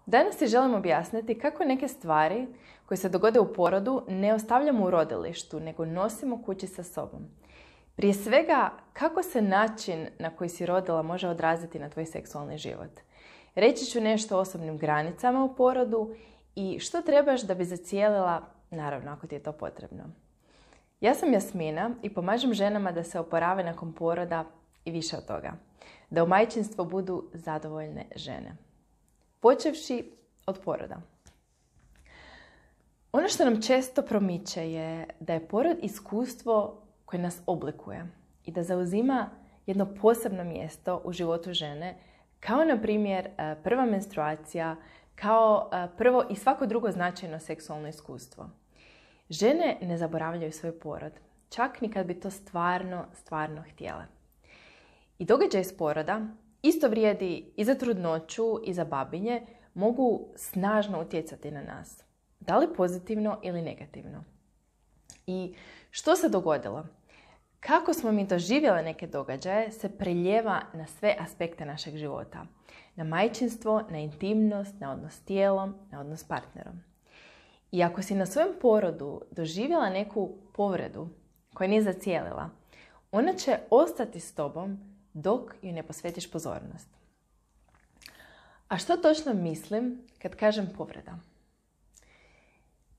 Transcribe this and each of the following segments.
Danas ti želim objasniti kako neke stvari koje se dogode u porodu ne ostavljamo u rodilištu, nego nosimo kući sa sobom. Prije svega, kako se način na koji si rodila može odraziti na tvoj seksualni život. Reći ću nešto o osobnim granicama u porodu i što trebaš da bi zacijelila, naravno ako ti je to potrebno. Ja sam Jasmina i pomažem ženama da se oporave nakon poroda i više od toga. Da u majčinstvu budu zadovoljne žene. Počevši od poroda. Ono što nam često promiče je da je porod iskustvo koje nas oblikuje i da zauzima jedno posebno mjesto u životu žene, kao na primjer prva menstruacija, kao prvo i svako drugo značajno seksualno iskustvo. Žene ne zaboravljaju svoj porod, čak ni kad bi to stvarno htjele. I događaj iz poroda, isto vrijedi i za trudnoću i za babinje, mogu snažno utjecati na nas. Da li pozitivno ili negativno? I što se dogodilo? Kako smo mi doživjele neke događaje se preljeva na sve aspekte našeg života. Na majčinstvo, na intimnost, na odnos s tijelom, na odnos s partnerom. I ako si na svojem porodu doživjela neku povredu koja nije zacijelila, ona će ostati s tobom dok joj ne posvetiš pozornost. A što točno mislim kad kažem povreda?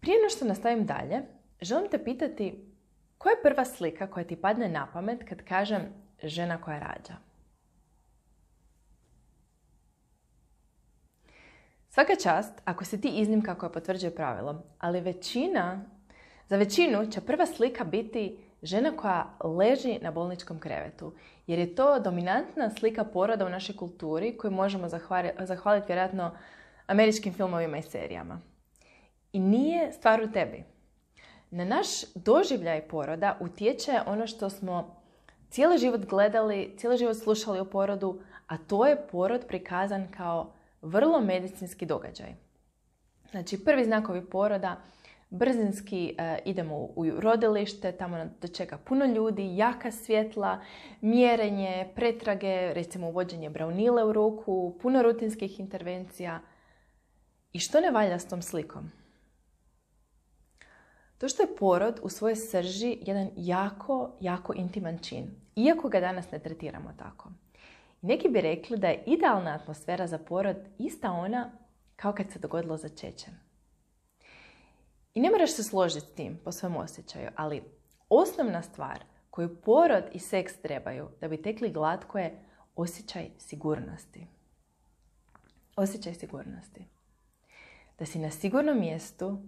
Prije no što nastavim dalje, želim te pitati koja je prva slika koja ti padne na pamet kad kažem žena koja rađa? Svaka čast ako si ti iznimka koja potvrđuje pravilo, ali za većinu će prva slika biti žena koja leži na bolničkom krevetu, jer je to dominantna slika poroda u našoj kulturi koju možemo zahvaliti vjerojatno američkim filmovima i serijama. I nije stvar u tebi. Na naš doživljaj poroda utječe ono što smo cijeli život gledali, cijeli život slušali o porodu, a to je porod prikazan kao vrlo medicinski događaj. Znači, prvi znakovi poroda, brzinski idemo u rodilište, tamo nas dočeka puno ljudi, jaka svjetla, mjerenje, pretrage, recimo uvođenje braunile u ruku, puno rutinskih intervencija. I što ne valja s tom slikom? To što je porod u svojoj srži jedan jako intiman čin, iako ga danas ne tretiramo tako. Neki bi rekli da je idealna atmosfera za porod ista ona kao kad se dogodilo začeće. I ne moraš se složiti s tim po svom osjećaju, ali osnovna stvar koju porod i seks trebaju da bi tekli glatko je osjećaj sigurnosti. Osjećaj sigurnosti. Da si na sigurnom mjestu,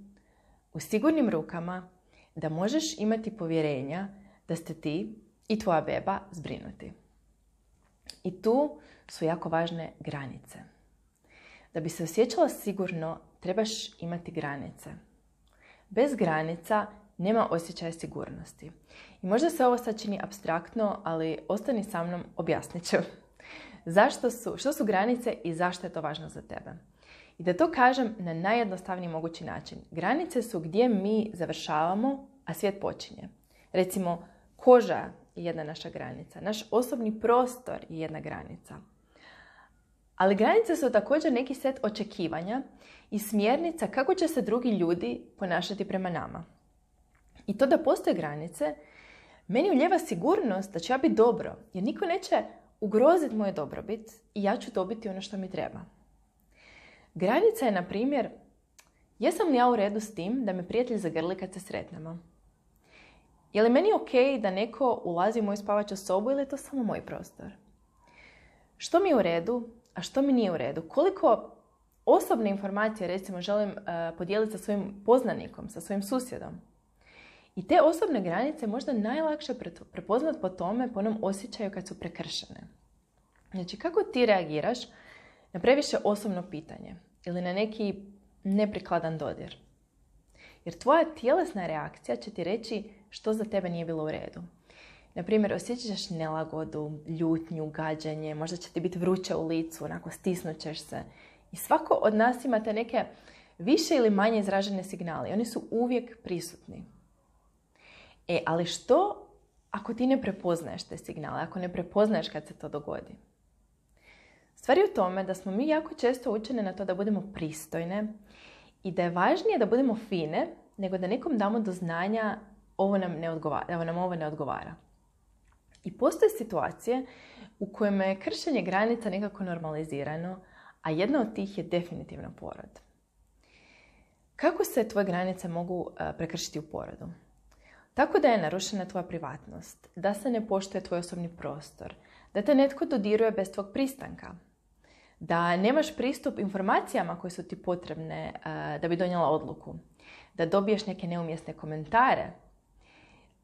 u sigurnim rukama, da možeš imati povjerenja da ste ti i tvoja beba zbrinuti. I tu su jako važne granice. Da bi se osjećala sigurno, trebaš imati granice. Bez granica nema osjećaja sigurnosti. I možda se ovo sad čini apstraktno, ali ostani sa mnom, objasnit ću. Što su granice i zašto je to važno za tebe? I da to kažem na najjednostavniji mogući način. Granice su gdje mi završavamo, a svijet počinje. Recimo, koža je jedna naša granica. Naš osobni prostor je jedna granica. Ali granice su također neki set očekivanja i smjernica kako će se drugi ljudi ponašati prema nama. I to da postoje granice, meni ulijeva sigurnost da ću ja biti dobro, jer niko neće ugroziti moju dobrobit i ja ću dobiti ono što mi treba. Granica je, na primjer, jesam li ja u redu s tim da me prijatelj zagrli kad se sretnemo? Je li meni ok da neko ulazi u moju spavaću sobu ili je to samo moj prostor? Što mi je u redu, a što mi nije u redu? Koliko osobne informacije, recimo, želim podijeliti sa svojim poznanikom, sa svojim susjedom? I te osobne granice možda najlakše prepoznat po tome, po onom osjećaju kad su prekršene. Znači, kako ti reagiraš na previše osobno pitanje ili na neki neprikladan dodir? Jer tvoja tjelesna reakcija će ti reći što za tebe nije bilo u redu. Naprimjer, osjećaš nelagodu, ljutnju, gađenje, možda će ti biti vruće u licu, onako stisnut ćeš se. I svako od nas ima te neke više ili manje izražene signale. Oni su uvijek prisutni. Ali što ako ti ne prepoznaješ te signale, ako ne prepoznaješ kad se to dogodi? Stvar je u tome da smo mi jako često učene na to da budemo pristojne i da je važnije da budemo fine nego da nekom damo do znanja da nam ovo ne odgovara. I postoje situacije u kojima je kršenje granica nekako normalizirano, a jedna od tih je definitivno porod. Kako se tvoje granice mogu prekršiti u porodu? Tako da je narušena tvoja privatnost, da se ne poštuje tvoj osobni prostor, da te netko dodiruje bez tvog pristanka, da nemaš pristup informacijama koje su ti potrebne da bi donijela odluku, da dobiješ neke neumjesne komentare.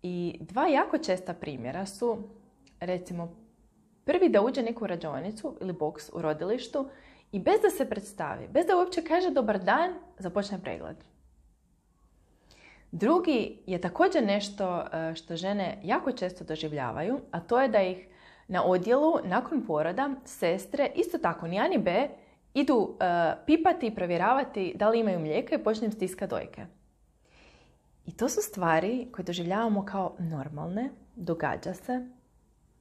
I dva jako česta primjera su, recimo, prvi da uđe neku rađaonicu ili boks u rodilištu i bez da se predstavi, bez da uopće kaže dobar dan, započne pregled. Drugi je također nešto što žene jako često doživljavaju, a to je da ih na odjelu nakon poroda sestre, isto tako ni A ni B, idu pipati i provjeravati da li imaju mlijeka i počne im stiskati dojke. I to su stvari koje doživljavamo kao normalne, događa se.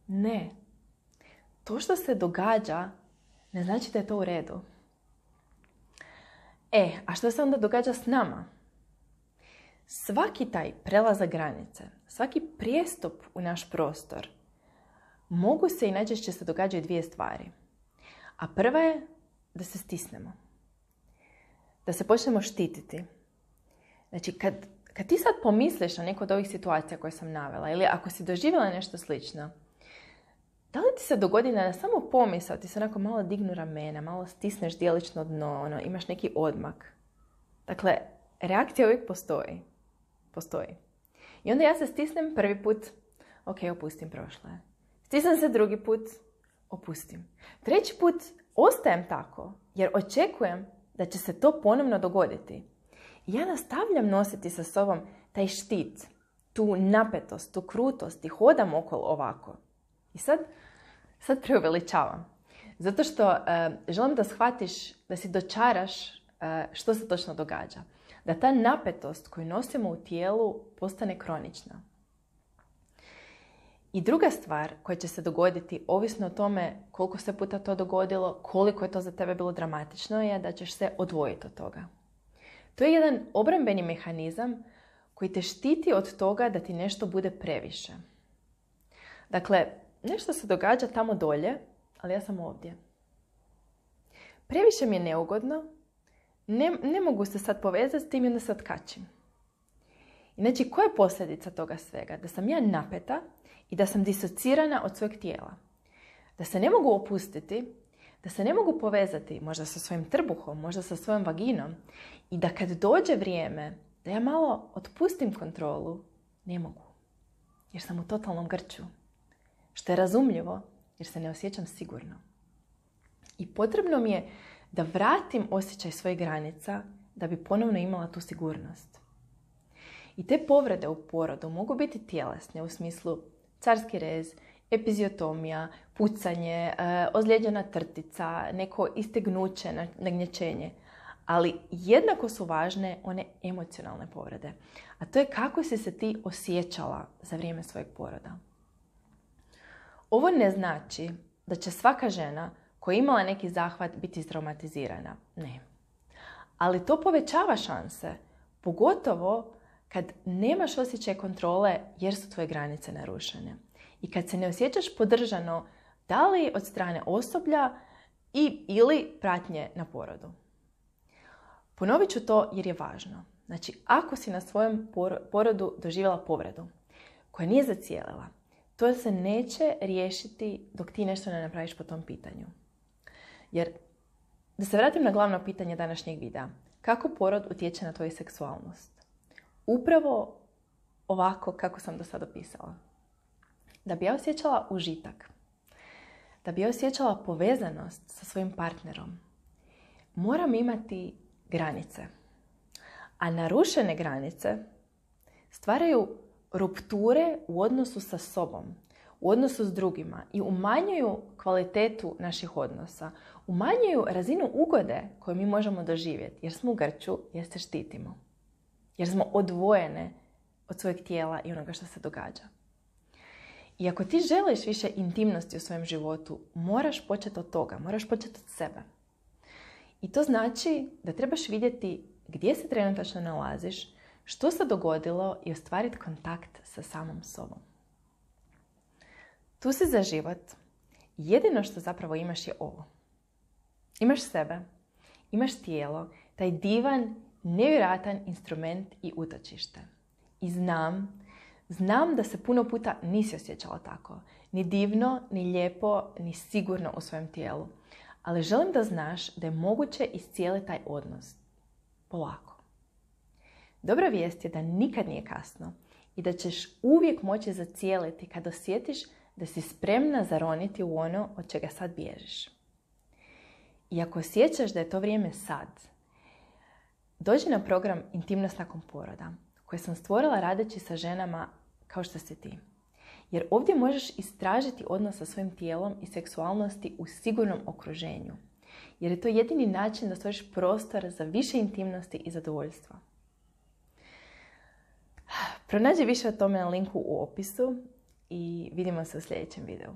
Ne. To što se događa ne znači da je to u redu. A što se onda događa s nama? Svaki taj prelazak granice, svaki prijestup u naš prostor, mogu se i najčešće se događaju dvije stvari. A prva je da se stisnemo. Da se počnemo štititi. Znači, kad ti sad pomisliš na neku od ovih situacija koje sam navela, ili ako si doživjela nešto slično, da li ti se dogodi da na samo pomisao ti se onako malo dignu ramena, malo stisneš dijelično dno, imaš neki odmak? Dakle, reakcija uvijek postoji. I onda ja se stisnem prvi put, opustim, prošlo je. Stisnem se drugi put, opustim. Treći put ostajem tako, jer očekujem da će se to ponovno dogoditi. I ja nastavljam nositi sa sobom taj štit, tu napetost, tu krutost i hodam okolo ovako. I sad preuveličavam. Zato što želim da shvatiš, da si dočaraš što se točno događa. Da ta napetost koju nosimo u tijelu postane kronična. I druga stvar koja će se dogoditi, ovisno o tome koliko se puta to dogodilo, koliko je to za tebe bilo dramatično, je da ćeš se odvojiti od toga. To je jedan obrambeni mehanizam koji te štiti od toga da ti nešto bude previše. Dakle, nešto se događa tamo dolje, ali ja sam ovdje. Previše mi je neugodno, ne mogu se sad povezati s tim i onda se otkačim. Znači, koja je posljedica toga svega? Da sam ja napeta i da sam disocirana od svojeg tijela. Da se ne mogu opustiti, da se ne mogu povezati možda sa svojim trbuhom, možda sa svojom vaginom i da kad dođe vrijeme da ja malo otpustim kontrolu, ne mogu. Jer sam u totalnom grču. Što je razumljivo jer se ne osjećam sigurno. I potrebno mi je da vratim osjećaj svojih granica da bi ponovno imala tu sigurnost. I te povrede u porodu mogu biti tjelesne u smislu carski rez, epiziotomija, pucanje, ozlijeđena trtica, neko istegnuće, nagnječenje. Ali jednako su važne one emocionalne povrede. A to je kako si se ti osjećala za vrijeme svojeg poroda. Ovo ne znači da će svaka žena koja je imala neki zahvat biti istraumatizirana. Ne. Ali to povećava šanse, pogotovo kad nemaš osjećaj kontrole jer su tvoje granice narušene. I kad se ne osjećaš podržano, da li od strane osoblja ili pratnje na porodu. Ponovit ću to jer je važno. Znači, ako si na svojem porodu doživjela povredu koja nije zacijelila, to se neće riješiti dok ti nešto ne napraviš po tom pitanju. Jer, da se vratim na glavno pitanje današnjeg videa. Kako porod utječe na tvoju seksualnost? Upravo ovako kako sam do sada opisala. Da bi ja osjećala užitak, da bi ja osjećala povezanost sa svojim partnerom, moram imati granice. A narušene granice stvaraju rupture u odnosu sa sobom, u odnosu s drugima i umanjuju kvalitetu naših odnosa, umanjuju razinu ugode koju mi možemo doživjeti jer smo u grču, jer se štitimo, jer smo odvojene od svojeg tijela i onoga što se događa. I ako ti želiš više intimnosti u svojem životu, moraš početi od toga, moraš početi od sebe. I to znači da trebaš vidjeti gdje se trenutačno nalaziš, što se dogodilo i ostvariti kontakt sa samom sobom. Tu si za život. Jedino što zapravo imaš je ovo. Imaš sebe, imaš tijelo, taj divan, nevjerojatan instrument i utočište. I znam da se puno puta nisi osjećala tako. Ni divno, ni lijepo, ni sigurno u svojem tijelu. Ali želim da znaš da je moguće iscijeliti taj odnos. Polako. Dobra vijest je da nikad nije kasno i da ćeš uvijek moći zacijeliti kad osjetiš da si spremna zaroniti u ono od čega sad bježiš. I ako osjećaš da je to vrijeme sad, dođi na program Intimnost nakon poroda, koji sam stvorila radeći sa ženama kao što si ti. Jer ovdje možeš istražiti odnos sa svojim tijelom i seksualnosti u sigurnom okruženju. Jer je to jedini način da stvoriš prostor za više intimnosti i zadovoljstva. Pronađi više o tome na linku u opisu i vidimo se u sljedećem videu.